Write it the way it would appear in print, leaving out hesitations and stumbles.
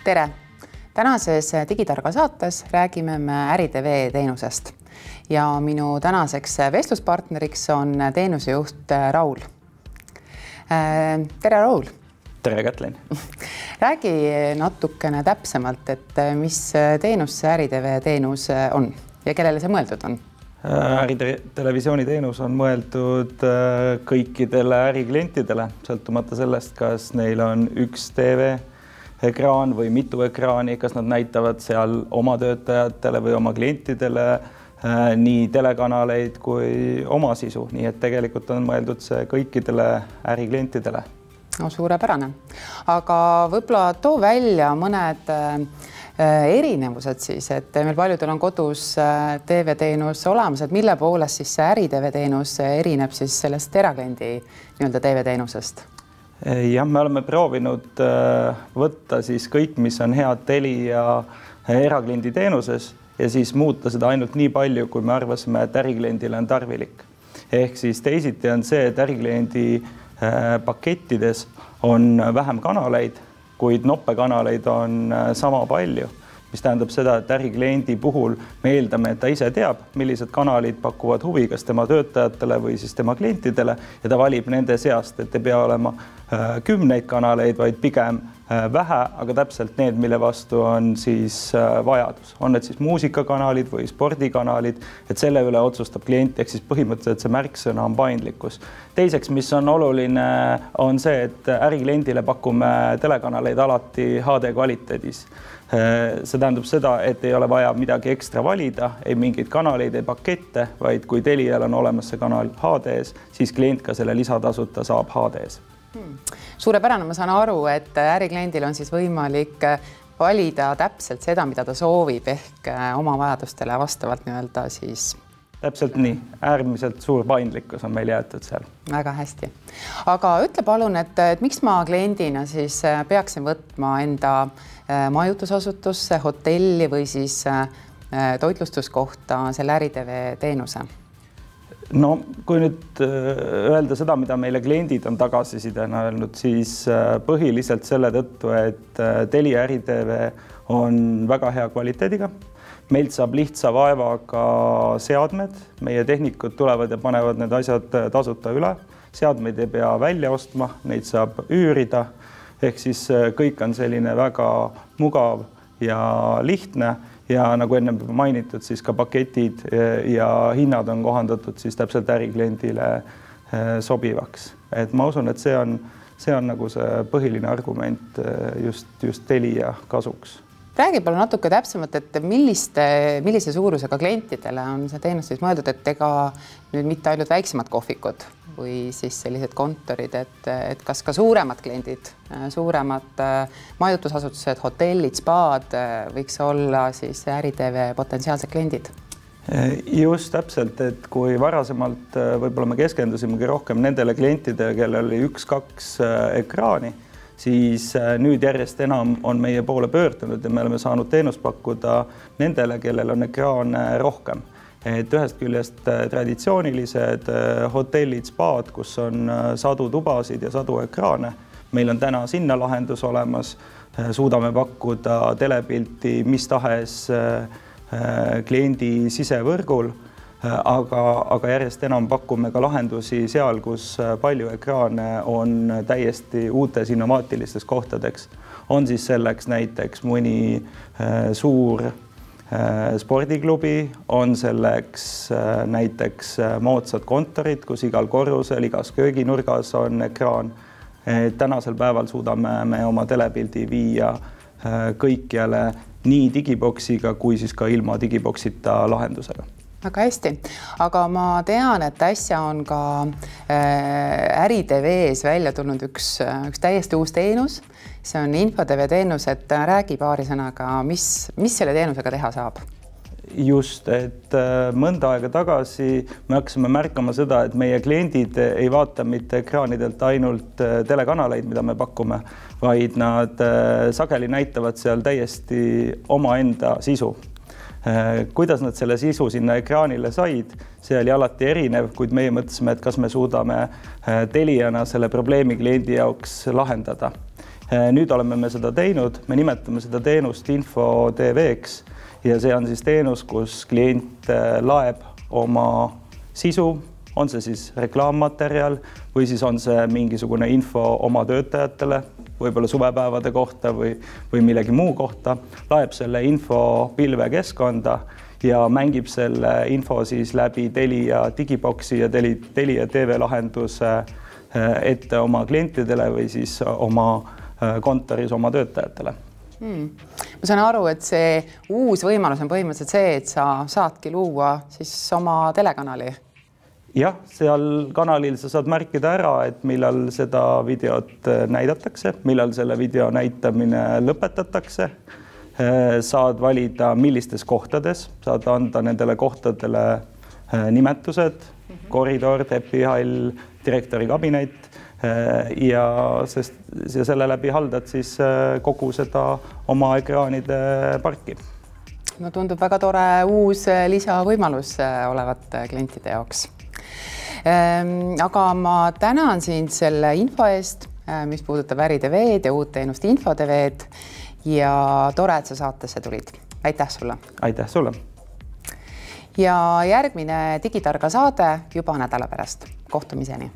Tere! Tänases Digitarga saates räägime me Äri-TV teenusest ja minu tänaseks vestluspartneriks on teenusejuht Raul. Tere, Raul! Tere, Kätlin! Räägi natukene täpsemalt, et mis teenus see Äri-TV teenus on ja kellele see mõeldud on? Äritelevisiooni teenus on mõeldud kõikidele äriklientidele, sõltumata sellest, kas neil on üks TV-ekraan või mitu ekraani, kas nad näitavad seal oma töötajatele või oma klientidele nii telekanaleid kui oma sisu. Nii et tegelikult on mõeldud see kõikidele äriklientidele. No, suurepärane. Aga võib-olla too välja mõned erinevused siis, et meil paljudel on kodus TV-teenus olemas, et mille poolest siis see Äri-TV-teenus erineb siis sellest erakliendi nii-öelda TV-teenusest? Jah, me oleme proovinud võtta siis kõik, mis on head Telia erakliendi teenuses ja siis muuta seda ainult nii palju, kui me arvasime, et ärikliendile on tarvilik. Ehk siis teisiti on see, et ärikliendi pakettides on vähem kanaleid, kuid noppekanaleid on sama palju, mis tähendab seda, et ärikliendi puhul me eeldame, et ta ise teab, millised kanalid pakuvad huvi, kas tema töötajatele või siis tema klientidele ja ta valib nende seast, et ei pea olema kümneid kanaleid, vaid pigem vähe, aga täpselt need, mille vastu on siis vajadus. On need siis muusikakanalid või spordikanalid, et selle üle otsustab klient, ehk siis põhimõtteliselt see märksõna on paindlikkus. Teiseks, mis on oluline, on see, et ärikliendile pakume telekanaleid alati HD kvaliteedis. See tähendab seda, et ei ole vaja midagi ekstra valida, ei mingeid kanaleid, ei pakette, vaid kui Telial on olemas see kanal HD-s, siis klient ka selle lisatasuta saab HD-s. Suurepärane, ma saan aru, et ärikliendil on siis võimalik valida täpselt seda, mida ta soovib, ehk oma vajadustele vastavalt nii-öelda siis. Täpselt nii, äärmiselt suur paindlikkus on meil jäetud seal. Väga hästi. Aga ütle palun, et miks ma kliendina siis peaksin võtma enda majutusasutusse, hotelli või siis toitlustuskohta selle Äri-TV teenuse? No, kui nüüd öelda seda, mida meile kliendid on tagasisidena öelnud, siis põhiliselt selle tõttu, et Telia Äri-TV on väga hea kvaliteediga. Meilt saab lihtsa vaevaga seadmed, meie tehnikud tulevad ja panevad need asjad tasuta üle. Seadmeid ei pea välja ostma, neid saab üürida, ehk siis kõik on selline väga mugav ja lihtne. Ja nagu enne mainitud, siis ka paketid ja hinnad on kohandatud siis täpselt ärikliendile sobivaks. Et ma usun, et see on nagu see põhiline argument just Telia kasuks. Räägi palun natuke täpsemalt, et millise suurusega klientidele on see teenus siis mõeldud, et ega nüüd mitte ainult väiksemad kohvikud või siis sellised kontorid, et kas ka suuremad kliendid, suuremad majutusasutused, hotellid, spaad võiks olla siis Äri-TV potentsiaalsed kliendid? Just täpselt, et kui varasemalt võib-olla me keskendusimegi rohkem nendele klientidele, kellel oli 1-2 ekraani, siis nüüd järjest enam on meie poole pöördunud ja me oleme saanud teenust pakkuda nendele, kellel on ekraane rohkem. Et ühest küljest traditsioonilised hotellid, spaad, kus on sadu tubasid ja sadu ekraane. Meil on täna sinna lahendus olemas, suudame pakkuda telepilti mis tahes kliendi sisevõrgul, aga järjest enam pakume ka lahendusi seal, kus palju ekraane on täiesti uutes innovaatilistes kohtadeks. On siis selleks näiteks mõni suur spordiklubi, on selleks näiteks moodsad kontorid, kus igal korrusel, igas kööginurgas on ekraan. Tänasel päeval suudame me oma telepildi viia kõikjale nii digiboksiga kui siis ka ilma digiboksita lahendusega. Väga hästi, aga ma tean, et äsja on ka Äri-TV-s välja tulnud üks täiesti uus teenus. See on InfoTV teenus, et räägi paari sõnaga, mis selle teenusega teha saab? Just, et mõnda aega tagasi me hakkasime märkama seda, et meie kliendid ei vaata mitte ekraanidelt ainult telekanaleid, mida me pakume, vaid nad sageli näitavad seal täiesti omaenda sisu. Kuidas nad selle sisu sinna ekraanile said, see oli alati erinev, kuid meie mõtlesime, et kas me suudame Teliana selle probleemi kliendi jaoks lahendada. Nüüd oleme me seda teinud, me nimetame seda teenust Info TV-ks ja see on siis teenus, kus klient laeb oma sisu, on see siis reklaammaterjal või siis on see mingisugune info oma töötajatele, võib-olla suvepäevade kohta või millegi muu kohta, laeb selle info pilvekeskkonda ja mängib selle info siis läbi Telia digiboksi ja Telia TV lahenduse ette oma klientidele või siis oma kontoris oma töötajatele. Ma saan aru, et see uus võimalus on põhimõtteliselt see, et sa saadki luua siis oma telekanali. Jah, seal kanalil sa saad märkida ära, et millal seda videot näidatakse, millal selle video näitamine lõpetatakse. Saad valida, millistes kohtades, saad anda nendele kohtadele nimetused, koridor, trepihall, direktori kabinet ja selle läbi haldad siis kogu seda oma ekraanide parki. No tundub väga tore uus lisavõimalus olevat klientide jaoks. Aga ma tänan sind selle info eest, mis puudutab Äri-TV-d ja uut teenust Info TV-d ja tore, et sa saatesse tulid. Aitäh sulle! Aitäh sulle! Ja järgmine Digitarga saade juba nädala pärast. Kohtumiseni!